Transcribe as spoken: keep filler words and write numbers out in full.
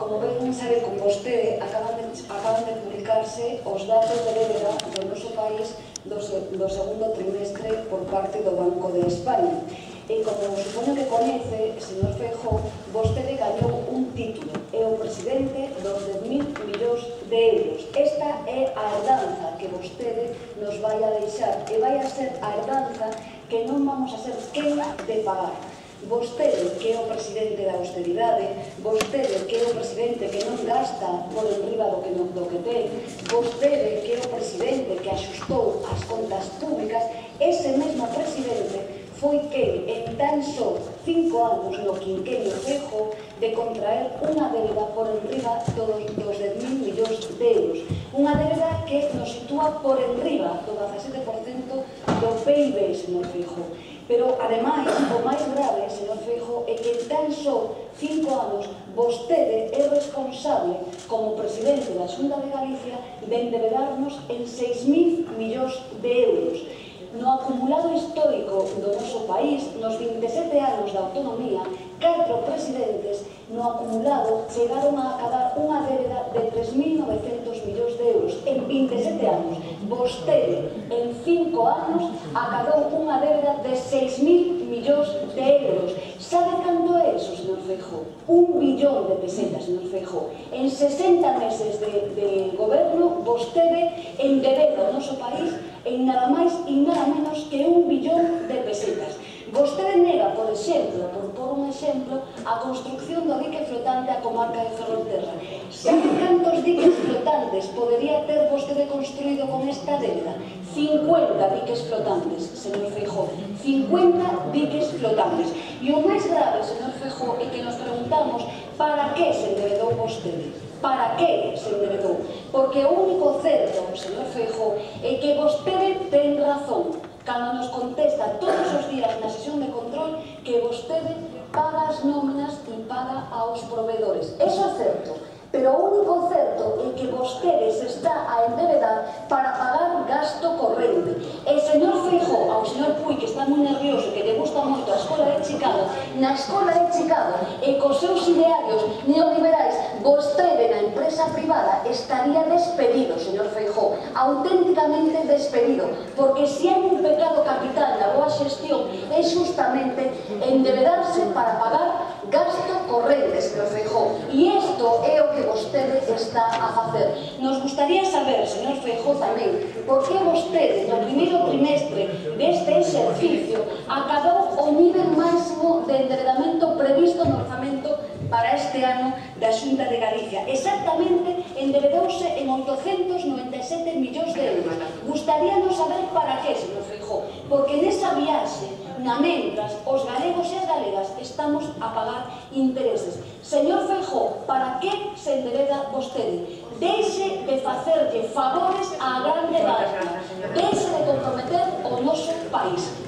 Como ben sabe con vostede, acaban de, acaban de publicarse os datos de débeda do noso país do, do segundo trimestre por parte do Banco de España. E como supoño que coñece, señor Feijóo, vostede gañou un título, é o presidente dos dez mil millóns de euros. Esta é a herdanza que vostede nos vai a deixar, e vai a ser a herdanza que non vamos a ser quen de pagar. Vostede, que é o presidente da austeridade, vostede, que é o presidente que non gasta por enriba do que, non, do que ten, vostede, que é o presidente que axustou as contas públicas, ese mesmo presidente foi que en tan só cinco anos no quinquenio Feijóo de contraer unha débeda por enriba dos, dos dez mil millóns de euros. Unha débeda que nos sitúa por enriba do dezasete por cento do P I B, señor Feijóo. Pero, ademais, o máis grave, señor Feijóo, é que en tan só cinco anos vostede é responsable, como presidente da Xunta de Galicia, de endebedarnos en seis mil millóns de euros. No acumulado histórico do noso país, nos vinte e sete anos da autonomía, catro presidentes no acumulado chegaron a acabar unha débeda de tres mil novecentos millóns de euros en vinte e sete anos. Vostede, en cinco anos, acabou unha débeda de seis mil millóns de euros. Sabe cando é iso, señor Feijóo? Un billón de pesetas, señor Feijóo. En sesenta meses de, de goberno, vostede endebeda o noso país en nada máis e nada menos que un billón de pesetas. Vostede nega, por exemplo, por por un exemplo, a construcción do dique flotante á comarca de Ferrolterra. Sabe cantos diques flotantes podería ter vostede construído con esta débeda? cincuenta diques flotantes, señor Feijóo. cincuenta diques flotantes. E o máis grave, señor Feijóo, é que nos preguntamos para que se endebedou vostede. Para que se enderedou? Porque o único certo, señor Feijóo, é que vostede ten razón cando nos contesta todos os días na sesión de control que vostede paga as nóminas e paga aos proveedores. Eso é certo. Pero o único certo é que vostede se está a endebedar para pagar gasto corrente. E, señor Feijóo, ao señor Puig, que está moi nervioso, que lle gusta moito a escola de Chicago, na escola de Chicago e cos seus idearios neoliberais, vostede na empresa privada estaría despedido, señor Feijóo, auténticamente despedido, porque se hai un pecado capital da boa xestión é justamente endebedarse para pagar gasto corrente, señor Feijóo. E isto é o que vostede está a facer. Nos gustaría saber, señor Feijóo, tamén, por que vostede no primeiro trimestre deste exercicio acabou o nivel máximo de endebedamento previsto no orzamento para este ano da Xunta de Galicia. Exactamente, endebedouse en oitocentos noventa e sete millóns de euros. Gustaríanos saber para que, señor Feijóo, porque nesa viaxe, na mentras, os galegos e as galegas estamos a pagar intereses. Señor Feijóo, para que se endebeda vostede? Deixe de facerlle favores á grande barca. Deixe de comprometer o noso país.